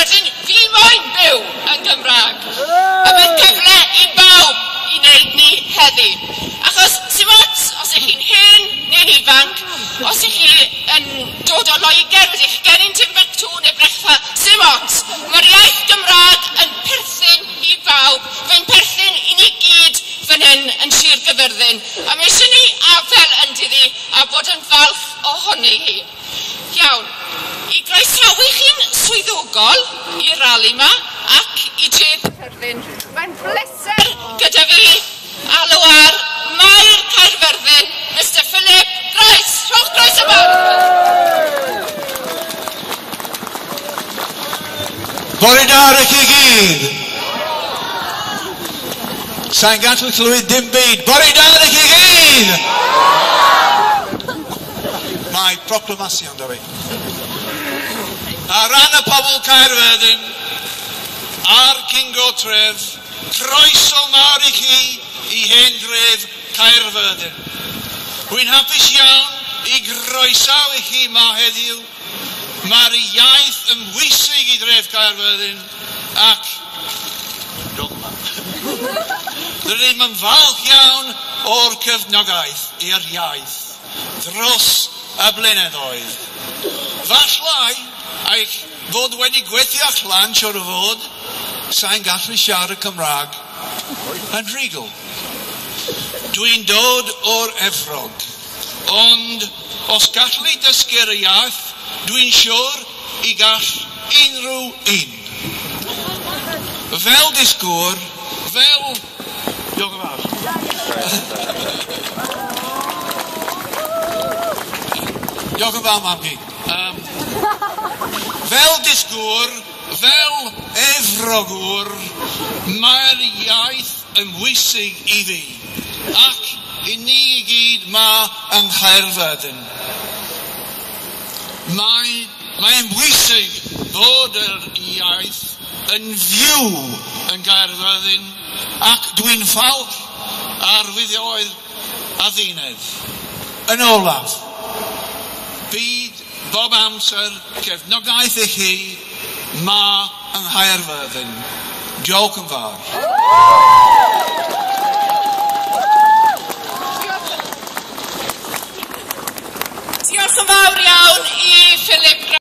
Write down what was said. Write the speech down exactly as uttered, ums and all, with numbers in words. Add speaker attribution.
Speaker 1: Caerfyrddin, fi moyn byw yn Gymraeg. A mae'n cyfle i bawb i wneud ni heddi. Achos, sy'n ots, os ych chi'n hen neu'n ifanc, os ych chi yn dod o Loegr, ydych chi geni'n Timbuktu neu Brechfa, sy'n ots. Mae'r iaith Gymraeg yn perthyn i bawb, fe'n perthyn i ni gyd fan hyn yn Sir Gaerfyrddin. A mae eisiau ni afel yn diddi a bod yn falch ohoni hi. Iawn, i groesawu chi'n swyddogol i'r rali yma ac i dref Caerfyrddin. Mae'n bleser gyda fi alw ar Maer Caerfyrddin, Mister Philip Grice. Rhowch groeso mawr!
Speaker 2: Bore da i chi gyd! Sa'n gallu clywed dim byd. Bore da i chi gyd! Mae proclamasiwn da fi. Ar ran y pobl Caerfyrddin a'r Cyngor Tref, croeso mawr i chi i hen dref Caerfyrddin. Rwy'n hapus iawn i groesawu chi ma heddiw. Mae'r iaith yn bwysig i dref Caerfyrddin ac dogma. Rydym yn falch iawn o'r cefnogaeth i'r iaith dros y blynyddoedd. Fallai eich fod wedi gweithio allan, siŵr o fod, sa'n gallu siarad Cymraeg yn rhugl. Dwi'n dod o'r Efrog, ond os gallu dysgu'r iaith, dwi'n siŵr i gall unrhyw un. Fel dysgwr, fel... Diolch yn fawr. Diolch yn fawr, mam-gu. Um, fel dysgwr, fel Efrogwr, mae'r iaith yn bwysig i fi, ac i ni i gyd ma yng Nghaerfyrddin. Mae, mae'n bwysig bod yr iaith yn fyw yn Gaerfyrddin, ac dwi'n falch ar fuddiol addunedd. Yn olaf, byd bob amser cefnogaeth i chi ma yng Nghaerfyrddin. Diolch yn fawr.
Speaker 1: Diolch yn fawr iawn i Philip.